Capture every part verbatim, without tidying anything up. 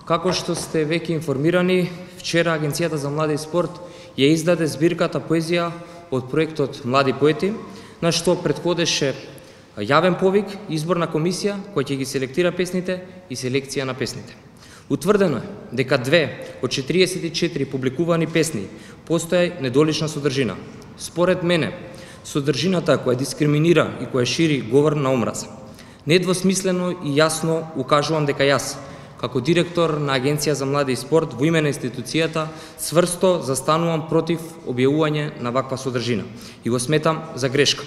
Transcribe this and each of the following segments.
Како што сте веќе информирани, вчера Агенцијата за млади и спорт ја издаде збирката поезија од проектот Млади поети, на што претходеше јавен повик, изборна комисија која ќе ги селектира песните и селекција на песните. Утврдено е дека две од четириесет и четири публикувани песни постоја недолична содржина. Според мене, содржината која дискриминира и која шири говор на омраза. Недвосмислено и јасно укажувам дека јас, како директор на Агенција за млади и спорт во име на институцијата, цврсто застанувам против објавување на ваква содржина и го сметам за грешка.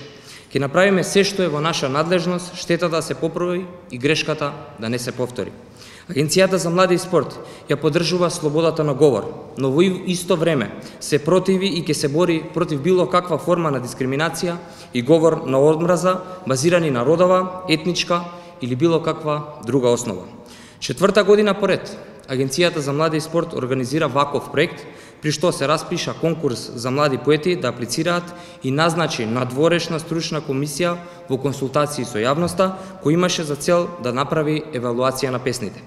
Ќе направиме се што е во наша надлежност, штета да се поправи и грешката да не се повтори. Агенцијата за млади и спорт ја поддржува слободата на говор, но во исто време се противи и ќе се бори против било каква форма на дискриминација и говор на омраза базирани на родова, етничка или било каква друга основа. Четврта година поред, Агенцијата за млади и спорт организира ваков проект, при што се распиша конкурс за млади поети да аплицираат и назначи надворешна стручна комисија во консултации со јавноста, кој имаше за цел да направи евалуација на песните.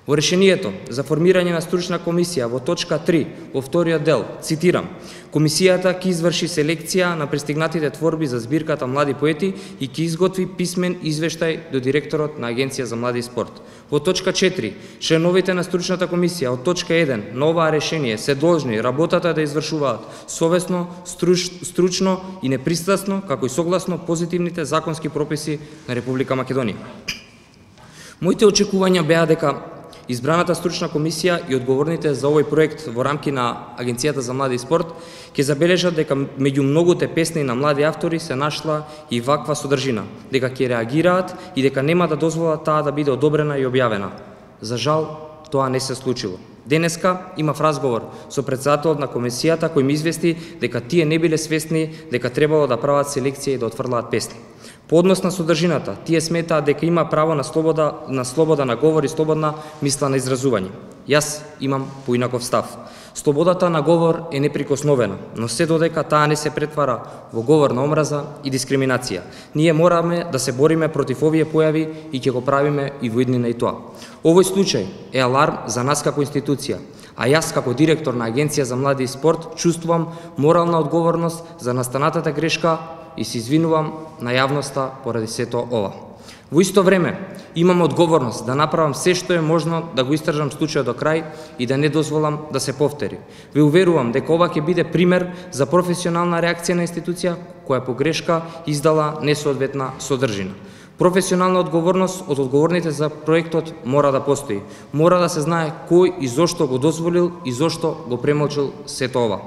Во решението за формирање на стручна комисија во точка три во вториот дел, цитирам, комисијата ќе изврши селекција на пристигнатите творби за збирката Млади поети и ќе изготви писмен извештај до директорот на Агенција за млади и спорт. Во точка четири, членовите на стручната комисија од точка еден на оваа решение се должни работата да извршуваат совесно, струч, стручно и непристрасно, како и согласно позитивните законски прописи на Република Македонија. Моите очекувања беа дека избраната стручна комисија и одговорните за овој проект во рамки на Агенцијата за млади и спорт ќе забележат дека меѓу многуте песни на млади автори се нашла и ваква содржина, дека ќе реагираат и дека нема да дозволат таа да биде одобрена и објавена. За жал, тоа не се случило. Денеска имав разговор со претседателот на комисијата кој ми извести дека тие не биле свесни дека требало да прават селекција и да отфрлаат песни. По однос на содржината, тие сметаат дека има право на слобода на слобода на говор и слободна мисла на изразување. Јас имам поинаков став. Слободата на говор е неприкосновена, но се додека таа не се претвара во говор на омраза и дискриминација. Ние мораме да се бориме против овие појави и ќе го правиме и во иднина и тоа. Овој случај е аларм за нас како институција, а јас како директор на Агенција за млади и спорт чувствувам морална одговорност за настанатата грешка и се извинувам на јавноста поради сето ова. Во исто време, имам одговорност да направам се што е можно да го истражам случајот до крај и да не дозволам да се повтори. Ве уверувам дека ова ќе биде пример за професионална реакција на институција која по грешка издала несоодветна содржина. Професионална одговорност од одговорните за проектот мора да постои. Мора да се знае кој и зошто го дозволил и зошто го премолчил сето ова.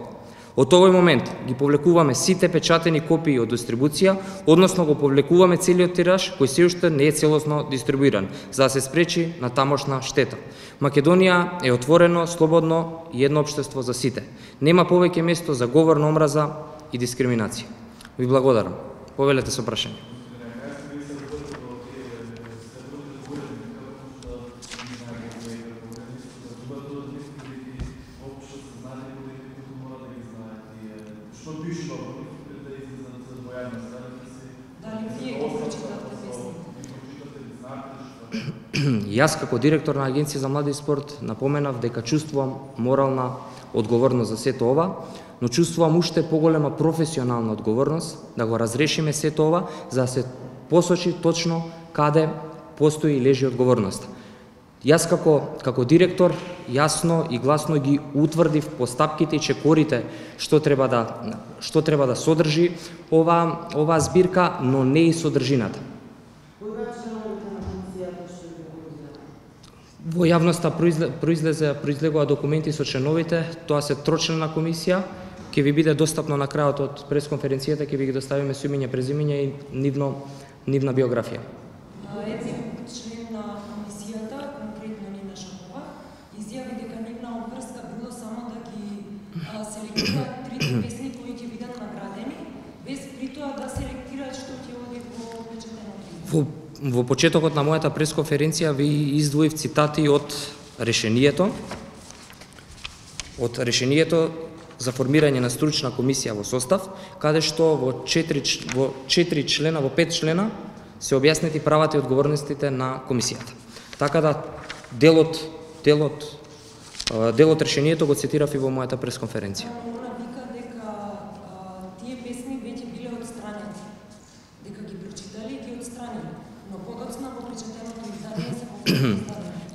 Од овој момент ги повлекуваме сите печатени копии од дистрибуција, односно го повлекуваме целиот тираж кој се уште не е целосно дистрибуиран, за да се спречи на тамошна штета. Македонија е отворено, слободно и едно општество за сите. Нема повеќе место за говор на омраза и дискриминација. Ви благодарам. Повелете со прашање. Јас како директор на Агенција за млади и спорт напоменав дека чувствувам морална одговорност за сето ова, но чувствувам уште поголема професионална одговорност да го разрешиме сето ова, за да се посочи точно каде постои и лежи одговорноста. Јас како, како директор јасно и гласно ги утврдив постапките и чекорите што треба да, што треба да содржи ова, ова збирка, но не и содржината. Во јавноста произлезе, произлегува документи со членовите, тоа се трочлена комисија, ќе ви биде достапно на крајот од пресконференцијата, ќе ви ги доставиме со имиња, презимиња и нивно, нивна биографија. Еден член на комисијата, конкретно Нина Шапова, изјави дека нивна обврска било само да ги селектираат трите песни кои ќе бидат наградени, без при тоа да селектираат што ќе оди во печатено. Во почетокот на мојата пресконференција ви издвоив цитати од решението, од решението за формирање на стручна комисија во состав, каде што во четири, во четири члена, во пет члена се објаснети правата и одговорностите на комисијата. Така да делот делот делот решението го цитирав и во мојата пресконференција. Она вика дека а, тие песни веќе биле отстранени, дека ги прочитали и ги отстранили, но подоцна во прочитаното издание се повторно.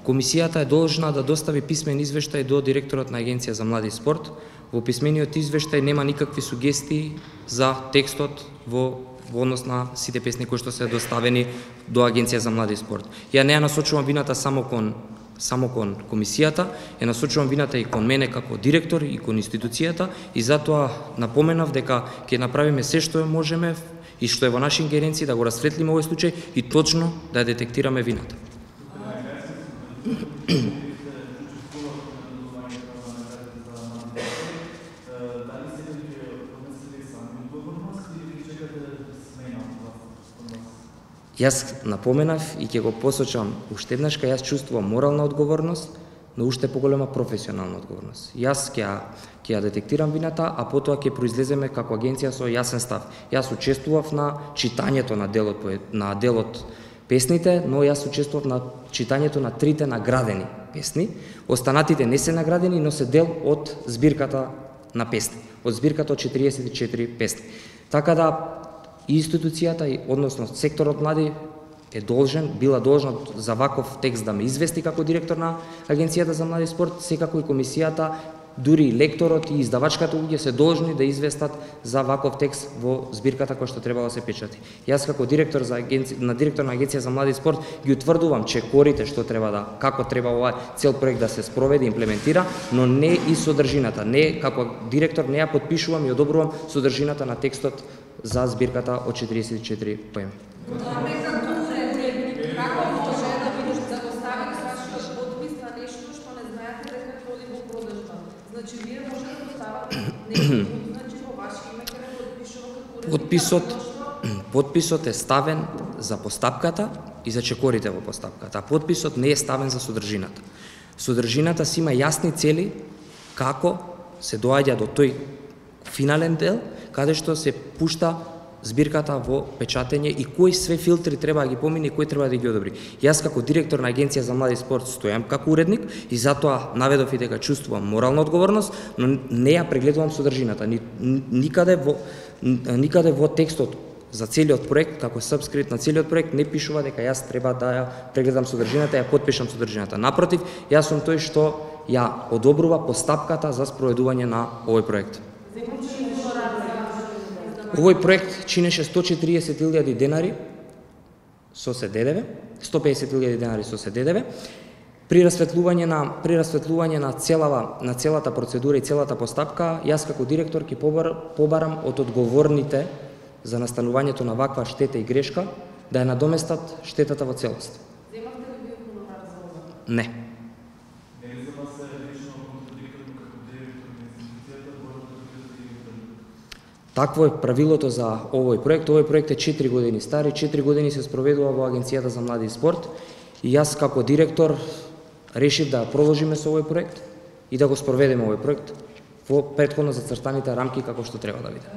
Комисијата е должна да достави писмен извештај до директорот на Агенција за млади и спорт. Во писмениот извештај нема никакви сугестии за текстот во во однос на сите песни кои што се доставени до Агенција за млади и спорт. Ја не ја насочувам вината само кон само кон комисијата, ја насочувам вината и кон мене како директор и кон институцијата и затоа напоменав дека ќе направиме се што можеме и што е во наша ингеренција да го расветлиме овој случај и точно да ја детектираме вината. Јас напоменав и ќе го посочам уште еднаш, кај јас чувствувам морална одговорност, но уште поголема професионална одговорност. Јас ќе ќе ја детектирам вината, а потоа ќе произлеземе како агенција со јасен став. Јас учествував на читањето на делот на делот песните, но јас учествував на читањето на трите наградени песни. Останатите не се наградени, но се дел од збирката на песни, од збирката од четириесет и четири песни. Така да и институцијата, односно секторот млади е должен, била должна за ваков текст да ме извести како директор на Агенцијата за млади и спорт, секако и комисијата, дури и лекторот и издавачката луѓе се должни да известат за ваков текст во збирката која што треба да се печати. Јас како директор за агенци... на директор на Агенција за млади и спорт ги утврдувам чекорите што треба да, како треба овој цел проект да се спроведе и имплементира, но не и содржината. Не како директор не ја потпишувам и одобрувам содржината на текстот за збирката од четириесет и четири поеми. Како може да видиш да го ставите вашиот подпис на нешто што не знаете дека ќе оди во продажба? Значи вие може да поставате нешто, значи во ваше име ќе не подпишува како Подписот подписот е ставен за постапката и за чекорите во постапката, а подписот не е ставен за содржината. Содржината си има јасни цели како се доаѓа до тој финален дел, каде што се пушта збирката во печатење и кои све филтри треба да ги помине и кои треба да ги одобри. Јас како директор на Агенција за млади и спорт стојам како уредник и затоа наведов и дека чувствувам морална одговорност, но не ја прегледувам содржината. Ни, никаде во никаде во текстот за целиот проект, како сабскрипт на целиот проект, не пишува дека јас треба да ја прегледам содржината, ја потпишам содржината. Напротив, јас сум тој што ја одобрува постапката за спроведување на овој проект. Овој проект чинеше сто четириесет илјади денари со се ДДВ, сто песет илјади денари со се ДДВ. При расветлување на при расветлување на целава на целата процедура и целата постапка, јас како директор ќе побар, побарам од одговорните за настанувањето на ваква штета и грешка да ја надоместат штетата во целост. Земавте ли вие хонорар за ова? Не. Такво е правилото за овој проект. Овој проект е четири години стар и четири години се спроведува во Агенцијата за млади и спорт. И јас како директор решив да продолжиме со овој проект и да го спроведеме овој проект во претходно зацртаните рамки како што треба да биде.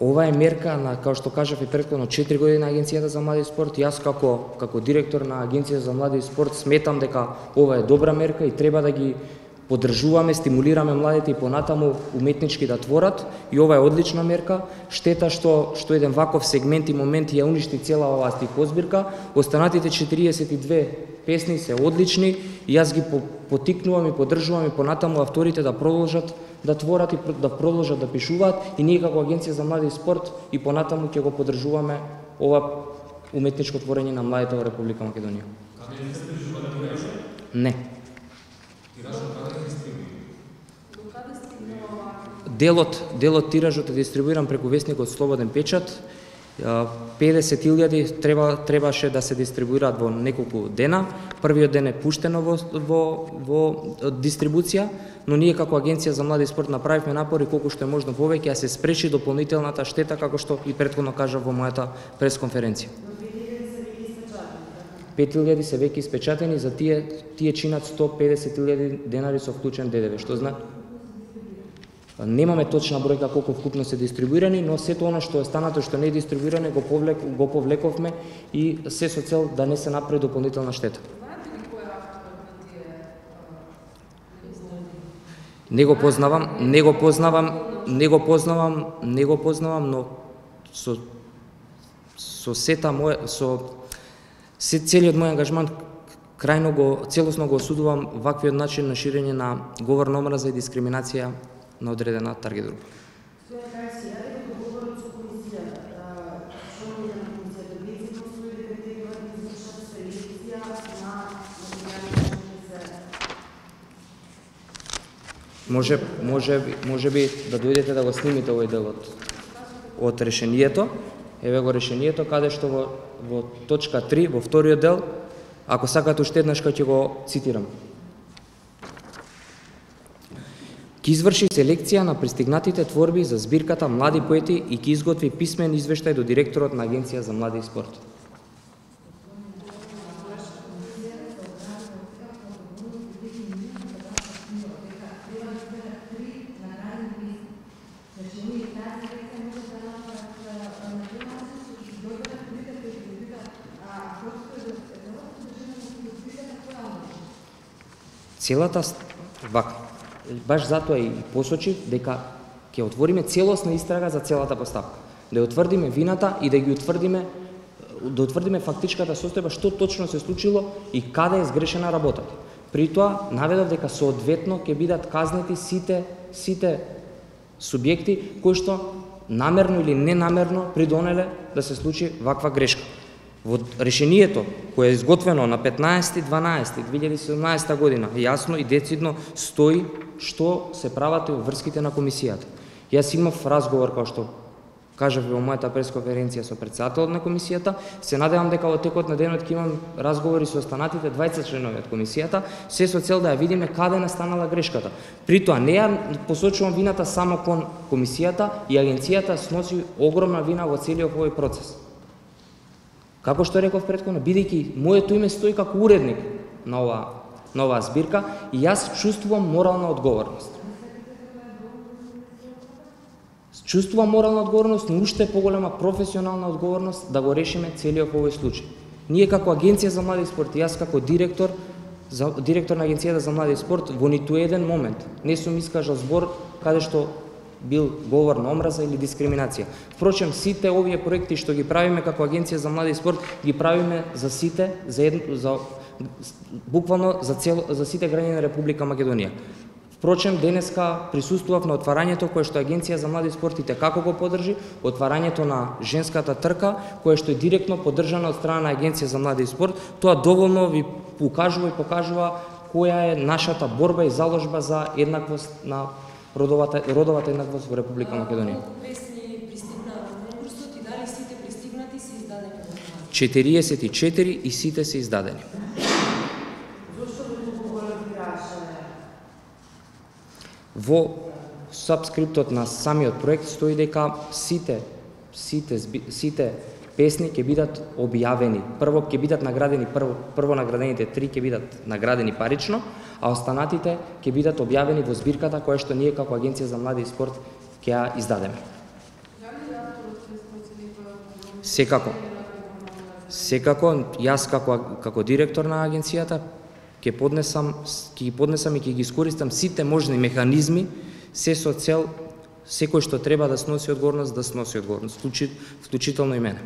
Ова е мерка на, како што кажав и претходно, четири години на Агенцијата за млади и спорт. Јас како како директор на Агенцијата за млади и спорт сметам дека ова е добра мерка и треба да ги поддржуваме, стимулираме младите и понатаму уметнички да творат и ова е одлична мерка. Штета што што еден ваков сегмент и момент ја уништи цела оваа стихозбирка. Останатите четириесет и две песни се одлични и јас ги потикнувам и поддржувам и понатаму авторите да продолжат да творат и да продолжат да пишуваат и ние како Агенција за млади и спорт и понатаму ќе го поддржуваме ова уметничко творење на младите во Република Македонија. Не. Делот, делот тиражот е дистрибуиран преку весникот Слободен печат. педесет илјади треба требаше да се дистрибуираат во неколку дена. Првиот ден е пуштено во во во дистрибуција, но ние како Агенција за млади и спорт направивме напори колку што е можно повеќе да се спречи дополнителната штета, како што и претходно кажав во мојата пресконференција. пет илјади се веќе испечатени, за тие тие чинат сто педесет илјади денари со вклучен ДДВ, што зна немаме точна бројка колку вкупно се дистрибуирани, но сето она што е станато што не е дистрибуирано го повлек го повлековме и се со цел да не се направи дополнителна штета. Знаете ли кој е авторот на тие? Не го познавам, не го познавам, не го познавам, не го познавам, но со со сета моја со се целиот мој ангажман крајно го целосно го осудувам ваквиот начин на ширење на говор на омраза и дискриминација на одредена таргет група. Може, може, може би да дојдете да го снимите овој дел од, од решението. Еве го решението, каде што во, во точка три, во вториот дел, ако сакате уште еднаш ќе го цитирам. Ки изврши селекција на пристигнатите творби за збирката Млади поети и ки изготви писмен извештај до директорот на Агенција за млади и спорт. Целата вака, баш затоа и посочив дека ќе отвориме целосна истрага за целата поставка. Да ја утврдиме вината и да ги утврдиме да утврдиме фактичката состојба што точно се случило и каде е сгрешена работата. При тоа наведов дека соодветно ќе бидат казнети сите сите субјекти кои што намерно или ненамерно придонеле да се случи ваква грешка. Во решението кое е изготвено на петнаесети дванаесети две илјади и седумнаесета година јасно и децидно стои што се прават во врските на комисијата. Јас имав разговор, како што кажав во мојата пресконференција со претседателот на комисијата, се надевам дека во текот на денот ќе имам разговори со останатите дваесет членови од комисијата, се со цел да ја видиме каде настанала грешката. При тоа не ја посочувам вината само кон комисијата и агенцијата сноси огромна вина во целиот овој процес. Како што реков претходно, бидејќи моето име стои како уредник на оваа на оваа збирка и јас чувствувам морална одговорност. Чувствувам морална одговорност, но уште поголема професионална одговорност да го решиме целиот овој случај. Ние како Агенција за млади и спорт, јас како директор за директор на Агенцијата за млади и спорт во ниту еден момент не сум искажал збор каде што бил говор на омраза или дискриминација. Впрочем, сите овие проекти што ги правиме како Агенција за млади и спорт, ги правиме за сите, за, едно, за буквално за цел, за сите граѓани на Република Македонија. Впрочем, денеска присуствував на отварањето кое што Агенција за млади и спорт и како го поддржи, отварањето на женската трка, кое што е директно поддржано од страна на Агенција за млади и спорт. Тоа доволно ви укажува и покажува која е нашата борба и заложба за еднаквост на родовата родовата еднаквост во Република Македонија. Колку песни пристигнаа во конкурсот и дали сите пристигнати се издадени во Македонија? четириесет и четири и сите се издадени. Во сабскриптот на самиот проект стои дека сите сите сите песни ќе бидат објавени. Прво ќе бидат наградени прво прво наградените три ќе бидат наградени парично, а останатите ќе бидат објавени во збирката која што ние како Агенција за млади и спорт ќе ја издадеме. Секако. Секако јас како како директор на агенцијата ќе поднесам ќе ги поднесам и ќе ги искористам сите можни механизми се со цел секој што треба да сноси одговорност да сноси одговорност, вклучително и мене.